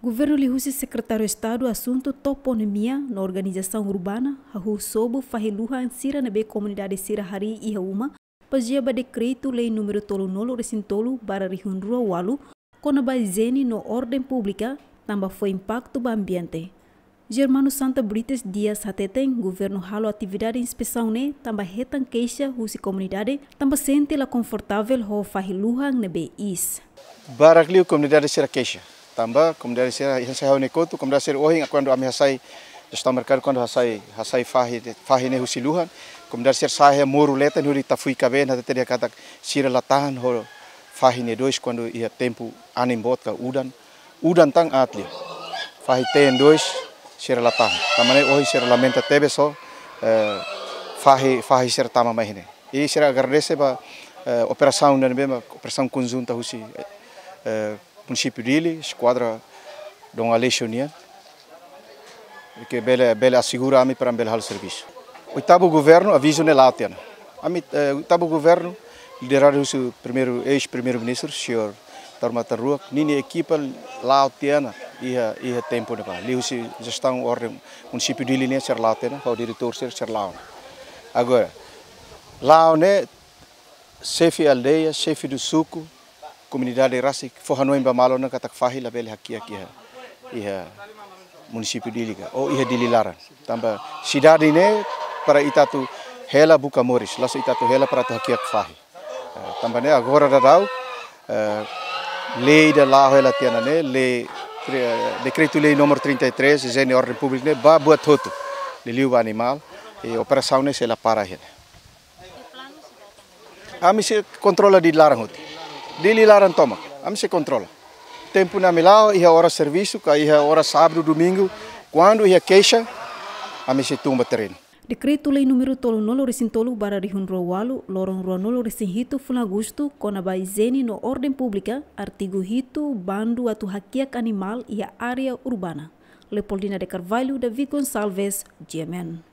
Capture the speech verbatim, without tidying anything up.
Governu liuhusi Sekretáriu Estadu Asuntu Toponímia no Organizasaun Urbana hahú sobu fahi luhan sira ne'ebé komunidade sira harii iha uma, bazeia ba Dekretu-Lei númeru tolunulu-resin-tolu barra rihun rua walu, kona-ba ijiene no orden públika, tanba fó impaktu ba ambiente. Germano Santa Brites Dias hateten, governu halo atividade inspesaun ne'e tanba hetan keixa husi komunidade, tanba sente la konfortavel ho fahi luhan ne'ebé iis. Barak liu komunidade sira keixa. Tanba komunidade sira, iha sai hau ne kotu, komunidade sira ohin, kuandu ami hasai, jestaun merkadu, kuandu hasai, hasai fahi, fahi ne'e husi luhan, komunidade sira sai iha moru leten hodi tafui kabeen, hatete dehan katak sira la tahan ho fahi ne'e dois kuandu iha tempu anin boot ka udan, udan tan aat liu. Fahi teen dois sira la tahan. Tanba ne'e ohin sira lamenta tebes ho, eh, fahi, fahi sira tama mai ne'e. I sira agradese ba, eh, operasaun ne'ebé mak operasaun konjunta husi, eh, Munisípiu Dili, Eskuadra Dom Aleixo nian, ke bele, bele asegura ami para bele halo servisu. Oitavu Governu, avizu ne'e la'o tiha ona. Ami, eh, Oitavu Governu, lideradu husi primeiru, eis-Primeiru-Ministru, señór Taur Matan Ruak, ninia ekipa la'o tiha ona iha, iha tempu ne'ebá. Liuhusi jestaun orden Munisípiu Dili nian sira la'o tiha ona, ho diretór sira, sira la'o ona. Agora, la'o ne'e, xefe aldeia, xefe do suku, komunidade rasik, fó hanoin ba malu ona katak fahi labele hakiak iha, iha Munisípiu Dili ka, ou iha Dili laran. Tanba sidade ne'e para ita atu hela buka moris, la'ós ita atu hela para atu hakiak fahi. Eh, tanba ne'e agora daudaun, eh, lei ida la'o hela tiha ona ne'e, lei, tre-, Dekretu-Lei númeru trinta e três, ijiene orden públika ne'e, ba buat hotu. Liuliu ba animál, i operasaun ne'e sei la para hela. Ami sei kontrola Dili laran hotu. Dili laran tomak, ami sei kontrola. Tempu ne'e ami la'o, iha oras servisu, ka iha oras sábadu, domingu, kuandu iha keixa, ami sei tun ba terrenu. Dekretu-Lei númeru tolunulu-resin-tolu barra rihun rua walu, loron ruanulu-resin-hitu fulan Agostu, kona-ba ijiene no orden públika, artigu hitu, bandu atu hakiak animál iha área urbana. Leopoldina de Carvalho, David Gonçalves, G M N.